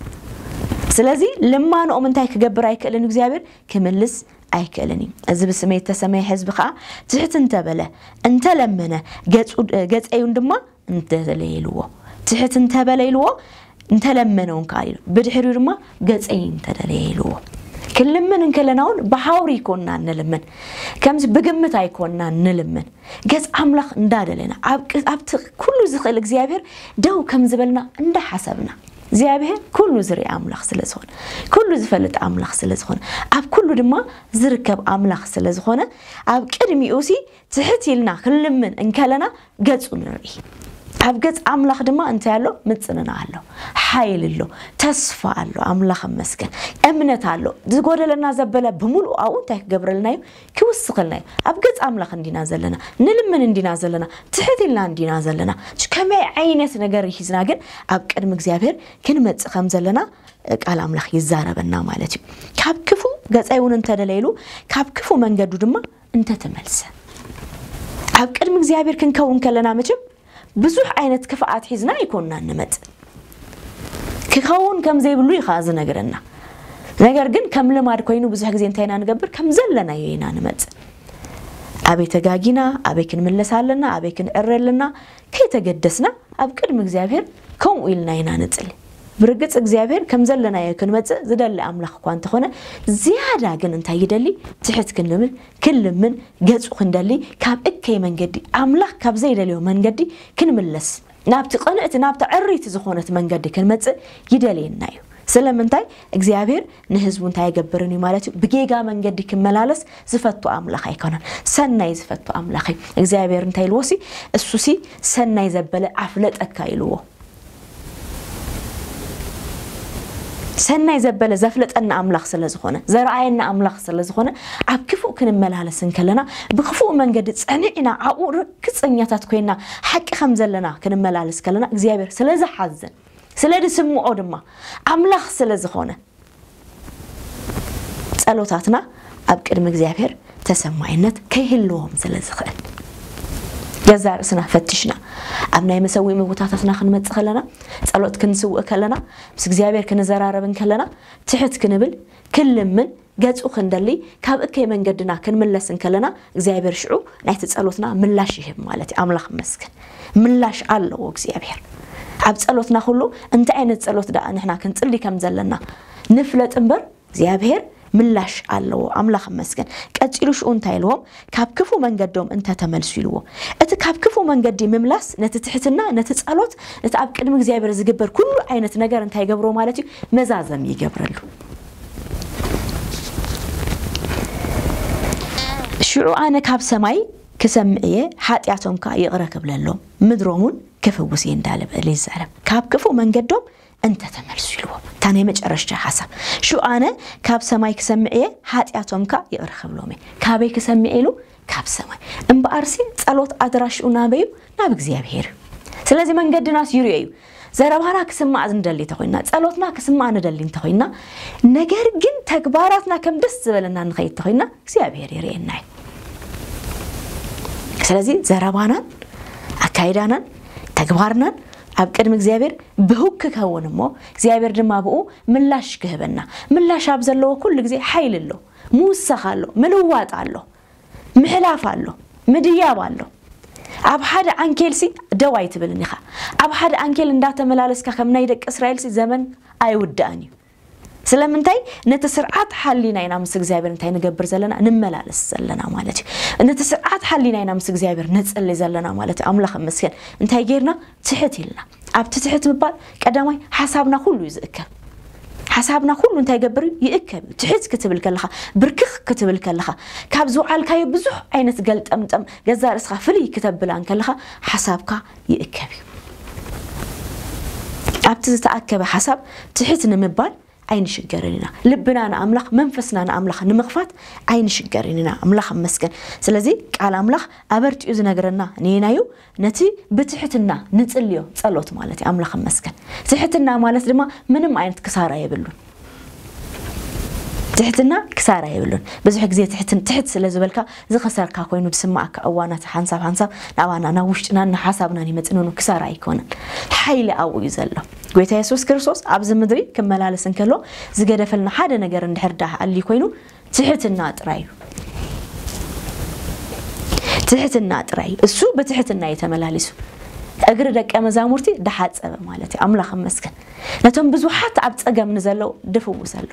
ስለዚ ልማንኦም እንታይ ክገብር ኣይክእልን እግዚኣብሔር? ክምልስ ኣይክእልን እዩ። እዚ ብስመይ እተሰመየ ህዝቢ ከዓ ትሕት እንተበለ፣ እንተለመነ፣ ገጹ- ገጸዩን ድማ እንተደለየ ኢልዎ። ትሕት እንተበለ ኢልዎ፣ እንተለመነ እውን ከዓ ኢሉ። ብድሕሪኡ ድማ ገጸይ እንተደለየ ኢልዎ። ክንልምን እንከለና እውን ብሃውሪ ኣይኮንና እንልምን። ከምዚ ብግምት ኣይኮንና እንልምን። ገጽ ኣምላኽ እንዳደለና፣ ኣብ ቅ- ኣብቲ ኩሉ ዝኽእል እግዚኣብሔር ደው ከም ዝበልና እንዳሓሰብና፣ እግዚኣብሔር ኩሉ ዝርኢ ኣምላኽ ስለ ዝኾነ፣ ኩሉ ዝፈልጥ ኣምላኽ ስለ ዝኾነ፣ ኣብ ኩሉ ድማ ዝርከብ ኣምላኽ ስለ ዝኾነ፣ ኣብ ቅድሚኡ ሲ ትሕት ኢልና ክንልምን እንከለና ገጹ ንርኢ። ኣብ ገጽ ኣምላኽ ድማ እንታይ ኣሎ? ምጽንና ኣሎ፣ ሓይል ኣሎ፣ ተስፋ ኣሎ። ኣምላኽ መስገን፣ እምነት ኣሎ። ዝጎደለና ዘበለ ብምሉኡ ኣብኡ እንታይ ክገብረልና እዩ? ክውስኸልና እዩ። ኣብ ገጽ ኣምላኽ እንዲና ዘለና፣ ንልምን እንዲና ዘለና፣ ትሕት ኢልና እንዲና ዘለና። ከመይ ዓይነት ነገር ሒዝና ግን ኣብ ቅድሚ እግዚኣብሔር ክንመጽእ ከም ዘለና ቃል ኣምላኽ ይዛረበና ማለት እዩ። ካብ ክፉ ገጸይ እውን እንተደለይሉ፣ ካብ ክፉ መንገዱ ድማ እንተተመልሰ። ኣብ ቅድሚ እግዚኣብሔር ክንከውን ከለና መቸም ብዙሕ ዓይነት ክፍኣት ሒዝና ኣይኮንና እንመጽእ። ክኸውን ከም ዘይብሉ እዩ ከዓ ዝነግረና። ነገር ግን ከም ልማድ ኮይኑ ብዙሕ ግዜ እንታይ ኢና ንገብር? ከም ዘለናዮ ኢና ንመጽእ። ኣበይ ተጋጊና፣ ኣበይ ክንምለስ ኣለና፣ ኣበይ ክንዕረ ኣለና ከይተገደስና ኣብ ቅድሚ እግዚኣብሔር ከምኡ ኢልና ኢና ንጽሊ። ብርግጽ እግዚኣብሔር ከም ዘለናዮ ክንመጽእ ዝደሊ ኣምላኽ እኳ እንተኾነ፣ ዝያዳ ግን እንታይ ይደሊ? ትሕት ክንብል፣ ክንልምን፣ ገጹ ክንደሊ፣ ካብ እከይ መንገዲ፣ ኣምላኽ ካብ ዘይደልዮ መንገዲ ክንምለስ፣ ናብቲ ቅንዕቲ፣ ናብቲ ዕሪቲ ዝኾነት መንገዲ ክንመጽእ ይደልየና እዩ። ስለምንታይ? እግዚኣብሔር ንህዝቡ እንታይ ኣይገብርን እዩ ማለት እዩ? ብጌጋ መንገዲ ክመላለስ ዝፈቱ ኣምላኽ ኣይኮነን። ሰናይ ዝፈቱ ኣምላኽ እዩ። እግዚኣብሔር እንታይ ኢልዎ ሲ? እሱ ሲ ሰናይ ዘበለ ኣፍለጠካ ኢልዎ። ሰናይ ዘበለ ዘፍለጠና ኣምላኽ ስለ ዝኾነ፣ ዘርኣየና ኣምላኽ ስለ ዝኾነ፣ ኣብ ክፉእ ክንመላለስ እንከለና፣ ብክፉእ መንገዲ ጸኒዕና ኣብኡ ርግጸኛታት ኮይና ሓቂ ከም ዘለና ክንመላለስ ከለና እግዚኣብሔር ስለ ዝሓዝን ስለ ዝስምዖ ድማ ኣምላኽ ስለ ዝኾነ ጸሎታትና ኣብ ቅድሚ እግዚኣብሔር ተሰማይነት ከይህልዎም ስለ ዝኽእል ገዛ ርእስና ፈትሽና ኣብ ናይ መሰዊ ምግብታታትና ክንመጽእ ከለና ጸሎት ክንስውእ ከለና ምስ እግዚኣብሔር ክንዘራረብ እንከለና ትሕት ክንብል ክንልምን ገጹ ክንደሊ ካብ እከይ መንገድና ክንምለስ እንከለና እግዚኣብሔር ሽዑ ናይቲ ጸሎትና ምላሽ ይህብ ማለት እዩ። ኣምላኽ መስገን ምላሽ ኣለዎ እግዚኣብሔር ኣብ ጸሎትና ኩሉ። እንታይ ዓይነት ጸሎት ደኣ ንሕና ክንጽሊ ከም ዘለና ንፍለጥ እምበር እግዚኣብሔር ምላሽ ኣለዎ። ኣምላኽ መስገን። ቀጺሉ ሽኡ እንታይ ኢልዎም? ካብ ክፉ መንገዶም እንተተመልሱ ኢልዎ። እቲ ካብ ክፉ መንገዲ ምምላስ ነቲ ትሕትና፣ ነቲ ጸሎት፣ ነቲ ኣብ ቅድሚ እግዚኣብሔር ዝግበር ኩሉ ዓይነት ነገር እንታይ ይገብሮ ማለት እዩ? መዛዘም ይገብረሉ። ሽዑ ኣነ ካብ ሰማይ ክሰምዕ እየ፣ ሓጢኣቶም ከኣ ይቕረ ክብለሎም፣ ምድሮም እውን ክፍውስ እየ እንዳለ በለ ይዛረብ። ካብ ክፉ መንገዶም እንተተመልሱ ኢልዎም። እታ ናይ መጨረሽታ ሓሳብ ሽኡ ኣነ ካብ ሰማይ ክሰምዕ እየ፣ ሓጢኣቶም ከኣ ይቕረ ክብሎም እየ። ካበይ ክሰምዕ ኢሉ? ካብ ሰማይ። እምበኣርሲ ጸሎት ኣድራሽኡ ናበይ እዩ? ናብ እግዚኣብሔር እዩ። ስለዚ መንገድናስ ይርዮ እዩ። ዘረባና ክስማዕ ንደሊ እንተኾይና፣ ጸሎትና ክስማዕ ንደሊ እንተኾይና፣ ነገር ግን ተግባራትና ከም ደስ ዝበለና ንኸይድ እንተኾይና እግዚኣብሔር ይርእየና እዩ። ስለዚ ዘረባናን ኣካይዳናን ተግባርናን ኣብ ቅድሚ እግዚኣብሔር ብህግ ክኸውን እሞ እግዚኣብሔር ድማ ብኡ ምላሽ ክህበና። ምላሽ ኣብ ዘለዎ ኩሉ ግዜ ሓይሊ ኣሎ፣ ምውሳኽ ኣሎ፣ ምልዋጥ ኣሎ፣ ምሕላፍ ኣሎ፣ ምድያብ ኣሎ። ኣብ ሓደ ዓንኬልሲ ደው ኣይትብልን ኢኻ። ኣብ ሓደ ዓንኬል እንዳተመላለስካ ከም ናይ ደቂ እስራኤልሲ ዘመን ኣይውዳእን እዩ። ስለምንታይ? ነቲ ስርዓት ሓሊና ኢና ምስ እግዚኣብሔር እንታይ ንገብር ዘለና? ንመላለስ ዘለና ማለት እዩ። ነቲ ስርዓት ሓሊና ኢና ምስ እግዚኣብሔር ንጽሊ ዘለና ማለት እዩ። ኣምላኽ እመስገን። እንታይ ጌርና? ትሕት ኢልና። ኣብቲ ትሕት ምባል ቀዳማይ ሓሳብና ኩሉ እዩ ዝእከብ። ሓሳብና ኩሉ እንታይ ይገብር እዩ? ይእከብ እዩ። ትሕት ክትብል ከለኻ፣ ብርክኽ ክትብል ከለኻ፣ ካብ ዝወዓልካዮ ብዙሕ ዓይነት ገልጠምጠም ገዛ ርእስኻ ፍልይ ክተብላ እንከለኻ ሓሳብካ ይእከብ እዩ። ኣብቲ ዝተኣከበ ሓሳብ ትሕት ንምባል ኣይንሽገርን ኢና። ልብና ንኣምላኽ፣ መንፈስና ንኣምላኽ ንምኽፋት ኣይንሽገርን ኢና። ኣምላኽ ይመስገን። ስለዚ ቃል ኣምላኽ ኣበርቲኡ ዝነግረና ነየናዩ? ነቲ ብትሕትና ንጽልዮ ጸሎት ማለት እዩ። ኣምላኽ ይመስገን። ትሕትና ማለት ድማ ምንም ዓይነት ክሳራ የብሉን። ትሕትና ክሳራ የብሉን። ብዙሕ ግዜ ትሕትን-፣ ትሕት ስለ ዝበልካ ዝኸሰርካ ኮይኑ ዝስማዓካ እዋናት ሓንሳብ ሓንሳብ ናባና፣ ናብ ውሽጥናን ንሓሳብናን ይመጽእ፣ ንኑ ክሳራ ኣይኮነን። ሓይሊ ኣብኡ እዩ ዘሎ። ጎይታ የሱስ ክርስቶስ ኣብዚ ምድሪ ክመላለስ እንከሎ ዝገደፈልና ሓደ ነገር እንድሕር ደኣ ኣልዩ ኮይኑ ትሕትና ጥራይ እዩ። ትሕትና ጥራይ እዩ። እሱ ብትሕትና እዩ ተመላሊሱ። እግሪ ደቀ መዛሙርቲ ደሓጸበ ማለት እዩ። ኣምላኽ ይመስገን። ነቶም ብዙሓት ኣብ ጸገም ንዘለዉ ድፍውስ ኣሎ።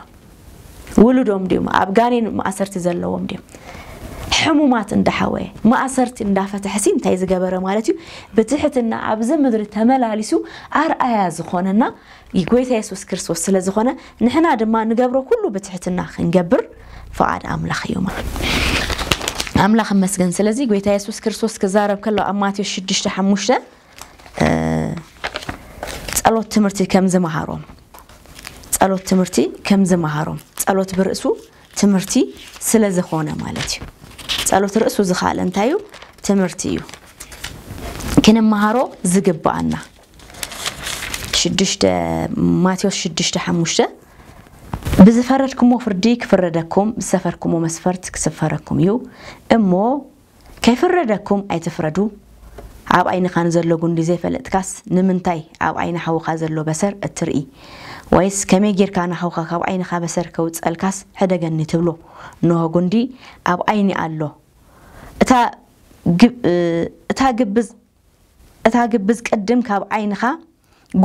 ውሉዶም ድዮም፣ ኣብ ጋኔን ማእሰርቲ ዘለዎም ድዮም፣ ሕሙማት እንዳሓወየ፣ ማእሰርቲ እንዳፈትሐ ሲ እንታይ ዝገበረ ማለት እዩ? ብትሕትና ኣብዚ ምድሪ ተመላሊሱ ኣርኣያ ዝኾነና ጎይታ የሱስ ክርስቶስ ስለ ዝኾነ፣ ንሕና ድማ ንገብሮ ኩሉ ብትሕትና ክንገብር ፍቓድ ኣምላኽ እዩ ማለት። ኣምላኽ ይመስገን። ስለዚ ጎይታ የሱስ ክርስቶስ ክዛረብ ከሎ ኣብ ማቴዎስ ሽዱሽተ ሓሙሽተ፣ እ፣ ጸሎት ትምህርቲ ከም ዝመሃሮም፣ ጸሎት ትምህርቲ ከም ዝመሃሮም፣ ጸሎት ብርእሱ ትምህርቲ ስለ ዝኾነ ማለት እዩ። ጸሎት ርእሱ ዝኸኣለ እንታይ እዩ? ትምህርቲ እዩ። ክንመሃሮ ዝግብኣና። ሽዱሽተ፣ ማቴዎስ ሽዱሽተ ሓሙሽተ፣ "ብዝፈረድኩሞ ፍርዲ ክፍረደኩም፣ ብዝሰፈርኩሞ መስፈርት ክስፈረኩም እዩ። እሞ ከይፍረደኩም ኣይትፍረዱ። ኣብ ዓይንኻ ንዘሎ ጉንዲ ዘይፈለጥካስ፣ ንምንታይ ኣብ ዓይኒ ሓውኻ ዘሎ በሰር እትርኢ? ወይስ ከመይ ጌርካ ንሓውኻ ካብ ዓይንኻ በሰር ከውጸልካስ ሕደገኒ ትብሎ? እንሆ ጉንዲ ኣብ ዓይኒ ኣሎ። እታ ግብ-፣ እታ ግብዝ፣ እታ ግብዝ ቅድም ካብ ዓይንኻ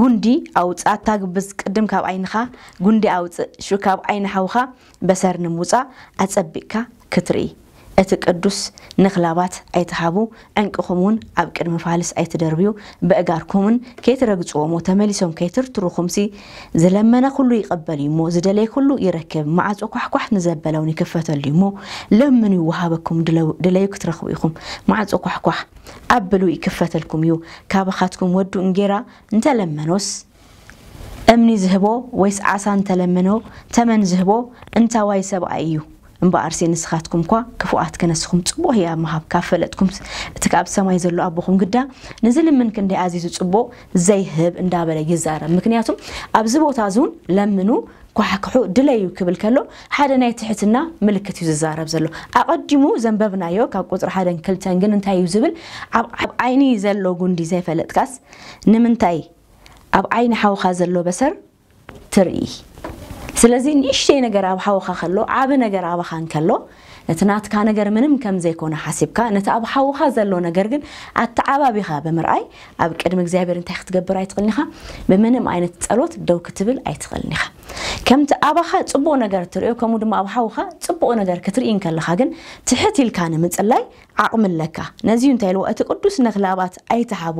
ጉንዲ ኣውጽእ፣ እታ ግብዝ ቅድም ካብ ዓይንኻ ጉንዲ ኣውጽእ፣ ሽዑ ካብ ዓይኒ ሓውኻ በሰር ንምውጻእ ኣጸቢቕካ ክትርኢ። እቲ ቅዱስ ነኽላባት ኣይትሃቡ፣ ዕንቅኹም እውን ኣብ ቅድሚ ፋልስ ኣይትደርብዩ፣ ብእጋርኩምን ከይትረግጽዎ እሞ ተመሊሶም ከይትርትሩኹምሲ፣ ዝለመነ ኩሉ ይቐበል እዩ እሞ፣ ዝደለየ ኩሉ ይረክብ፣ ማዕጾ ኳሕኳሕ ንዘበለ እውን ይክፈተሉ እዩ እሞ፣ ለምኑ ይወሃበኩም፣ ድለው-፣ ድለዩ ክትረኽቡ ኢኹም፣ ማዕጾ ኳሕኳሕ ኣብሉ ይክፈተልኩም እዩ። ካባኻትኩም ወዱ እንጌራ እንተለመኖስ እምኒ ዝህቦ ወይስ ዓሳ እንተለመኖ ተመን ዝህቦ እንታዋይ ሰብኣይ እዩ? እምበኣርሲ ንስኻትኩም እኳ ክፉኣት ክነስኹም ጽቡቕ ህያብ ምሃብ ካብ ፈለጥኩም፣ እቲ ካብ ሰማይ ዘሎ ኣቦኹም ግዳ ንዝልምን ክንደይ ኣዚዙ ጽቡቕ ዘይህብ እንዳበለ ይዛረብ። ምክንያቱም ኣብዚ ቦታ እዚ እውን ለምኑ፣ ኳሕኩሑ፣ ድለዩ ክብል ከሎ ሓደ ናይ ትሕትና ምልክት እዩ ዝዛረብ ዘሎ። ኣቐዲሙ ዘንበብናዮ ካብ ቁጽሪ ሓደን ክልተን ግን እንታይ እዩ ዝብል? ኣብ፣ ኣብ ዓይኒ ዘሎ ጉንዲ ዘይፈለጥካስ ንምንታይ ኣብ ዓይኒ ሓውኻ ዘሎ በሰር ትርኢ? ስለዚ ንእሽተይ ነገር ኣብ ሓውኻ ከሎ፣ ዓቢ ነገር ኣባኻ እንከሎ፣ ነቲ ናትካ ነገር ምንም ከም ዘይኮነ ሓሲብካ፣ ነቲ ኣብ ሓውኻ ዘሎ ነገር ግን ኣተዓባቢኻ ብምርኣይ፣ ኣብ ቅድሚ እግዚኣብሔር እንታይ ክትገብር ኣይትኽእልን ኢኻ? ብምንም ዓይነት ጸሎት ደው ክትብል ኣይትኽእልን ኢኻ። ከምቲ ኣባኻ ጽቡቕ ነገር ትርእዮ፣ ከምኡ ድማ ኣብ ሓውኻ ጽቡቕ ነገር ክትርኢ እንከለኻ ግን፣ ትሕት ኢልካ ንምጽላይ ዓቕሚ ኣለካ። ነዚ እዩ እንታይ ኢልዎ? እቲ ቅዱስ ነኽላባት ኣይትሃቡ፣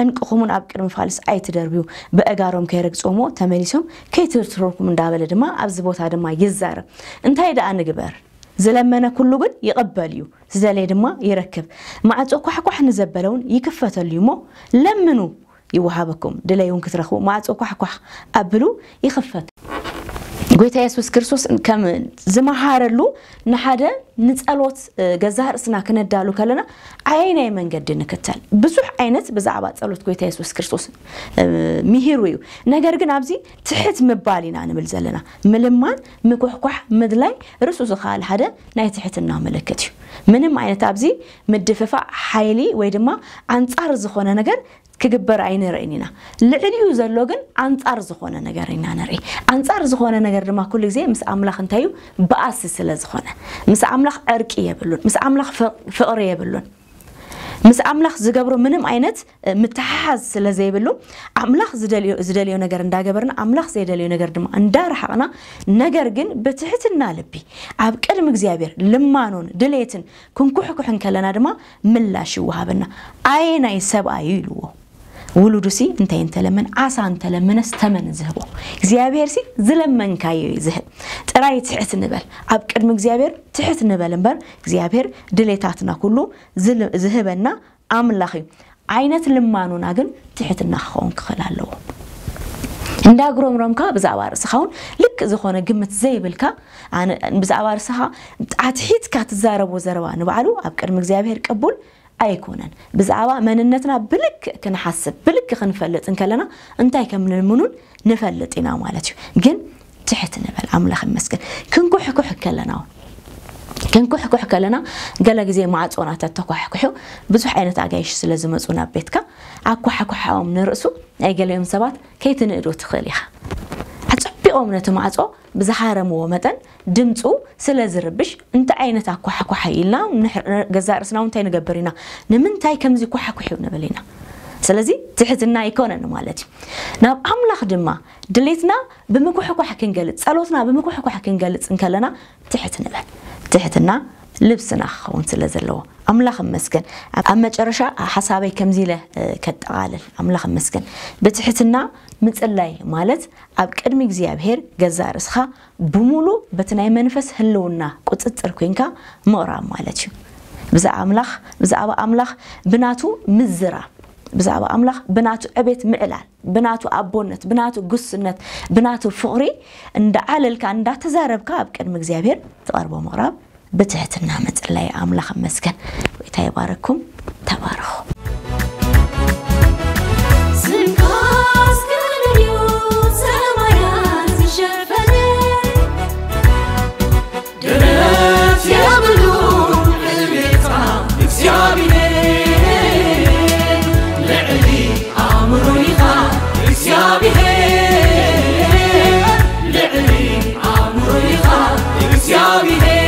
ዕንቅኹምን ኣብ ቅድሚ ፋልስ ኣይትደርብዩ፣ ብእጋሮም ከይረግጽዎ እሞ ተመሊሶም ከይትርትሩኩም እንዳበለ ድማ ኣብዚ ቦታ ድማ ይዛረብ። እንታይ ደኣ ንግበር? ዝለመነ ኩሉ ግን ይቕበል እዩ፣ ዝደለየ ድማ ይረክብ። ማዕጾ ኳሕኳሕ ንዘበለ እውን ይክፈተሉ እዩ እሞ ለምኑ ይወሃበኩም፣ ድለዩ እውን ክትረኽቡ፣ ማዕጾ ኳሕኳሕ ኣብሉ ይኽፈት። ጎይታ የሱስ ክርስቶስ ከም ዝመሃረሉ ንሓደ ንጸሎት፣ እ፣ ገዛእ ርእስና ክነዳሉ ከለና ኣየናይ መንገዲ ንክተል? ብዙሕ ዓይነት ብዛዕባ ጸሎት ጎይታ የሱስ ክርስቶስ፣ እ፣ ምሂሩ እዩ። ነገር ግን ኣብዚ ትሕት ምባል ኢና ንብል ዘለና። ምልማን፣ ምኩሕኳሕ፣ ምድላይ ርእሱ ዝኸኣለ ሓደ ናይ ትሕትና ምልክት እዩ። ምንም ዓይነት ኣብዚ ምድፍፋእ ሓይሊ ወይ ድማ ኣንጻር ዝኾነ ነገር ክግበር ኣይንርእን ኢና። ልዕሊኡ ዘሎ ግን ኣንጻር ዝኾነ ነገር ኢና ንርኢ። ኣንጻር ዝኾነ ነገር ድማ ኩሉ ግዜ ምስ ኣምላኽ እንታይ እዩ? ባእሲ ስለ ዝኾነ። ምስ ኣምላኽ ዕርቂ የብሉን። ምስ ኣምላኽ ፍቕ-፣ ፍቕሪ የብሉን። ምስ ኣምላኽ ዝገብሮ ምንም ዓይነት፣ እ፣ ምትሓሓዝ ስለ ዘይብሉ፣ ኣምላኽ ዝደልዮ፣ ዝደልዮ ነገር እንዳገበርና፣ ኣምላኽ ዘይደልዮ ነገር ድማ እንዳረሓቕና፣ ነገር ግን ብትሕትና ልቢ ኣብ ቅድሚ እግዚኣብሔር ልማኖን ድሌትን ክንኩሕኩሕ እንከለና ድማ ምላሽ ይወሃበና። ኣየናይ ሰብኣይ እዩ ኢልዎ? ውሉዱሲ እንታይ እንተለመን፣ ዓሳ እንተለመነስ ተመን ዝህቦ? እግዚኣብሔርሲ ዝለመንካዮ እዩ ዝህብ። ጥራይ ትሕት ንበል። ኣብ ቅድሚ እግዚኣብሔር ትሕት ንበል እምበር፣ እግዚኣብሔር ድሌታትና ኩሉ ዝል-፣ ዝህበና ኣምላኽ እዩ። ዓይነት ልማኖና ግን ትሕትና ክኸውን ክኽእል ኣለዎ። እንዳጉረምረምካ ብዛዕባ ርእስኻ እውን ልክእ ዝኾነ ግምት ዘይብልካ፣ ኣነ ብዛዕባ ርእስኻ ኣትሒትካ ትዛረቦ ዘረባ ንባዕሉ ኣብ ቅድሚ እግዚኣብሔር ቅቡል ኣይኮነን። ብዛዕባ መንነትና ብልክእ ክንሓስብ፣ ብልክእ ክንፈልጥ እንከለና እንታይ ከም ንልምኑን ንፈልጥ ኢና ማለት እዩ። ግን ትሕት ንበል። ኣምላኽ ይመስገን። ክንኩሕኩሕ ከለና እውን፣ ክንኩሕኩሕ ከለና፣ ገለ ግዜ ማዕጾና ተተኳሕኩሑ ብዙሕ ዓይነት ኣጋይሽ ስለ ዝመጹ ናብ ቤትካ፣ ኣኳሕኳሕኦም ንርእሱ ናይ ገሊኦም ሰባት ከይትንእዶ ትኽእል ኢኻ። ኣጸቢቖም ነቲ ማዕጾ ብዝሃረምዎ መጠን ድምፁ ስለ ዝርብሽ፣ እንታይ ዓይነት ኣኳሕኳሕ ኢልና ንሕ-፣ ገዛእ ርእስና እውን እንታይ ንገብር ኢና? ንምንታይ ከምዚ ኳሕኩሕ እዩ ንብል ኢና? ስለዚ ትሕትና ኣይኮነን ማለት እዩ። ናብ ኣምላኽ ድማ ድሌትና ብምኩሕኳሕ ክንገልጽ፣ ጸሎትና ብምኩሕኳሕ ክንገልጽ እንከለና ትሕት ንበል። ትሕትና ልብስና ክኸውን ስለ ዘለዎ ኣምላኽ እመስገን። ኣብ፣ ኣብ መጨረሻ ሓሳበይ ከምዚ ኢለ፣ እ፣ ከጠቓልል። ኣምላኽ እመስገን። ብትሕትና ምጽላይ ማለት ኣብ ቅድሚ እግዚኣብሔር ገዛእ ርእስኻ ብሙሉ በቲ ናይ መንፈስ ህልውና ቁጽጽር ኮይንካ ምቕራብ ማለት እዩ። ብዛዕባ ኣምላኽ፣ ብዛዕባ ኣምላኽ ብናቱ ምዝራብ፣ ብዛዕባ ኣምላኽ ብናቱ ዕቤት ምዕላል፣ ብናቱ ኣቦነት፣ ብናቱ ጉስነት፣ ብናቱ ፍቕሪ እንዳዓለልካ፣ እንዳተዛረብካ ኣብ ቅድሚ እግዚኣብሔር ትቐርቦ ምቕራብ ብትሕትና ምጽላይ። ኣምላኽ እመስገን። ጎይታ ይባረኩም። ተባረኹ። ስንኳስ ክልልዩ ሰማያት ዝሸፈነ፣ ደረት የብሉ ዕቤትካ እግዚኣብሔር። ልዕሊ ኣእምሮ ኢኻ እግዚኣብሔር፣ ልዕሊ ኣእምሮ ኢኻ እግዚኣብሔር።